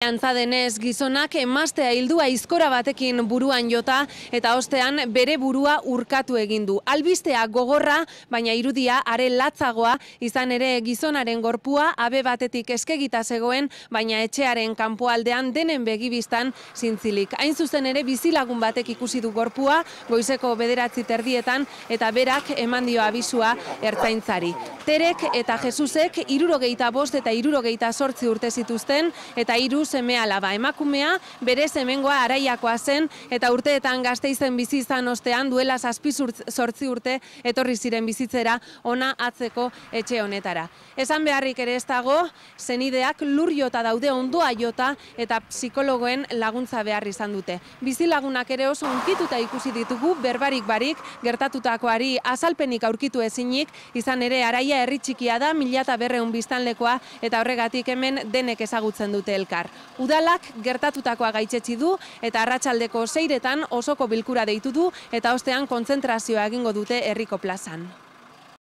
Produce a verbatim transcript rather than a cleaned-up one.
Antza denez, gizonak emaztea hildu aizkora batekin buruan jota eta ostean bere burua urkatu egin du. Albistea gogorra, baina irudia are latzagoa, izan ere gizonaren gorpua habe batetik eskegita zegoen, baina etxearen kanpoaldean denen begibistan zintzilik. Hain zuzen ere bizilagun batek ikusi du gorpua, goizeko bederatzi terdietan, eta berak eman dio abisua ertzaintzari. Terek eta Jesusek hirurogeita bost eta hirurogeita zortzi urte zituzten, eta hiru seme alaba. Emakumea bere semengoa Araiakoa zen eta urteetan Gasteizen bizi izan ostean duela zazpi zortzi urte etorri ziren bizitzera ona atzeko etxe honetara. Esan beharrik ere ez dago, senideak lur jota daude ondoa jota eta psikologoen laguntza behar izan dute. Bizilagunak ere oso hunkituta ikusi ditugu, berbarik barik, gertatutakoari azalpenik aurkitu ezinik, izan ere Araia herri txikia da, mila eta berrehun biztanlekoa eta horregatik hemen denek ezagutzen dute elkar. Udalak gertatutakoa gaitzetsi du eta arratsaldeko seiretan osoko bilkura deitu du eta ostean kontzentrazioa egingo dute herriko plazan.